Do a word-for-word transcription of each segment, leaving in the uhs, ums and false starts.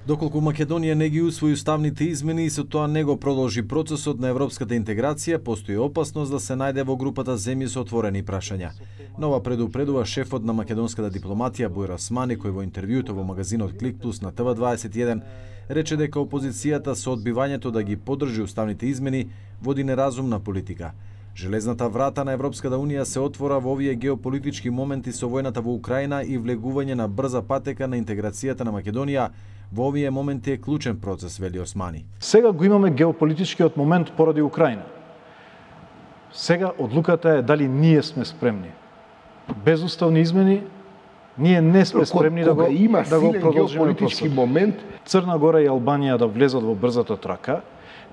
Доколку Македонија не ги усвои уставните измени и со тоа не го продолжи процесот на европската интеграција, постои опасност да се најде во групата земји со отворени прашања. Нова предупредува шефот на македонската дипломатија Бујар Османи, кој во интервјуто во магазинот Клик Плюс на Т В дваесет и еден рече дека опозицијата со одбивањето да ги поддржи уставните измени води неразумна политика. Железната врата на Европската Унија се отвора во овие геополитички моменти со војната во Украина и влегување на брза патека на интеграцијата на Македонија во овие моменти е клучен процес, вели Османи. Сега го имаме геополитичкиот момент поради Украина. Сега одлуката е дали ние сме спремни. Без уставни измени ние не сме спремни да го има да го силен продолжиме геополитички процесот. момент. Црна Гора и Албанија да влезат во брзата трака,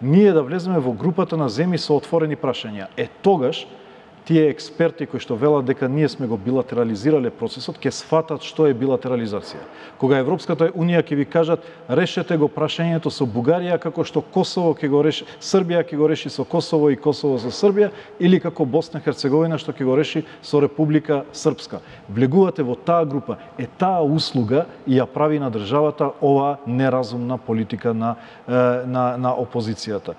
ние да влеземе во групата на земји со отворени прашања. Е тогаш тие експерти кои што велат дека ние сме го билатерализирале процесот, ќе сфатат што е билатерализација. Кога Европската Унија ќе ви кажат решете го прашањето со Бугарија како што Косово ќе го реши, Србија ќе го реши со Косово и Косово со Србија, или како Босна и Херцеговина што ќе го реши со Република Српска. Влегувате во таа група. Е таа услуга и ја прави на државата оваа неразумна политика на на на опозицијата.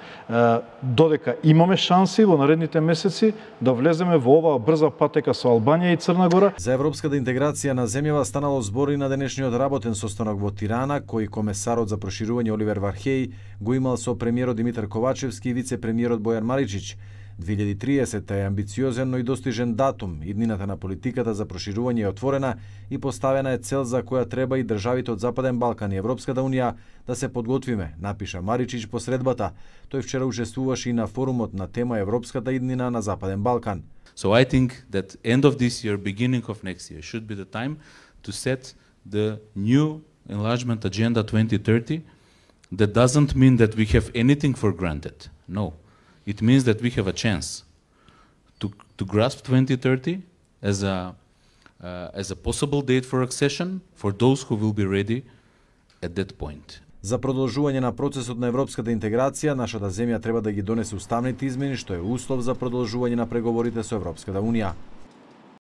Додека имаме шанси во наредните месеци да влеземе во оваа брза патека со Албанија и Црна Гора. За европската интеграција на земјава станало збор и на денешниот работен состанок во Тирана, кој комесарот за проширување Оливер Вархеј го имал со премиерот Димитар Ковачевски и вице-премиерот Бојан Маричич. две илјади и триесета е амбициозен, но и достижен датум. Иднината на политиката за проширување е отворена и поставена е цел за која треба и државите од Западен Балкан и Европската Унија да се подготвиме, напиша Маричич по средбата. Тој вчера учествуваше и на форумот на тема Европската иднина на Западен Балкан. So I think that end of this year, beginning of next year should be the time to set the new enlargement agenda twenty thirty. That doesn't mean that we have anything for granted. No. It means that we have a chance to to grasp twenty thirty as a uh, as a possible date for accession for those who will be ready at that point. За продолжување на процесот на европската интеграција, нашата земја треба да ги донесе уставните измени, што е услов за продолжување на преговорите со Европската Унија.